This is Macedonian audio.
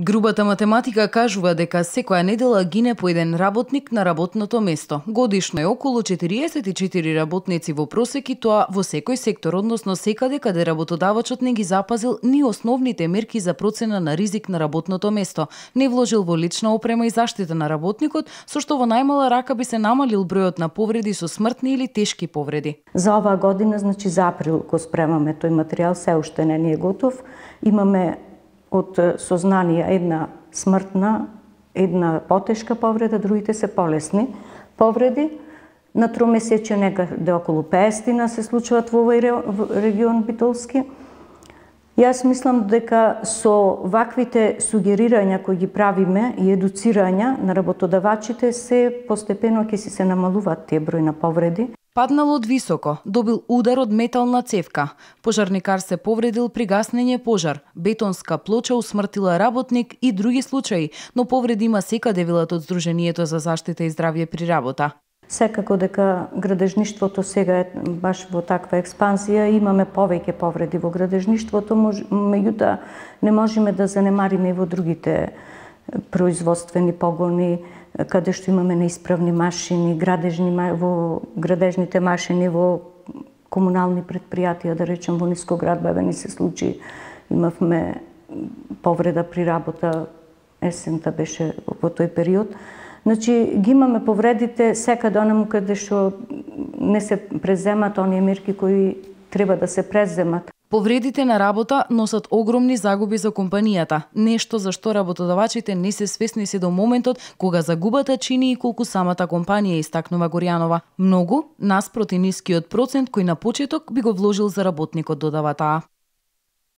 Грубата математика кажува дека секоја недела гине по еден работник на работното место. Годишно е околу 44 работници во просек и тоа во секој сектор, односно секаде каде работодавачот не ги запазил ни основните мерки за процена на ризик на работното место, не вложил во лична опрема и заштита на работникот, со што во најмала рака би се намалил бројот на повреди со смртни или тешки повреди. За оваа година, за април го спремаме тој материјал, се уште не е готов. Имаме од сознание една смртна, една потешка повреда, другите се полесни повреди. На тромесечие некаде околу 50 се случуваат во овој регион Битолски. Јас мислам дека со ваквите сугерирања кои ги правиме и едуцирања на работодавачите се постепено ќе се намалуваат тие број на повреди. Паднал од високо, добил удар од метална цевка. Пожарникар се повредил при гаснење пожар. Бетонска плоча усмртила работник и други случаи, но повреди има секаде, велат од Сдруженијето за заштита и здравје при работа. Секако дека градежништвото сега е баш во таква експанзија, имаме повеќе повреди во градежништвото, меѓутоа не можеме да занемариме и во другите производствени погони, каде што имаме неисправни машини, во градежните машини, во комунални предпријатија, да речем во Нискоградба, ни се случи, имавме повреда при работа, есента беше во тој период. Значи, ги имаме повредите секаде онаму каде што не се преземат оние мерки кои треба да се преземат. Повредите на работа носат огромни загуби за компанијата, нешто за што работодавачите не се свесни се до моментот кога загубата чини и колку самата компанија, истакнува Горјанова. Многу наспроти нискиот процент кој на почеток би го вложил за работникот, додава таа.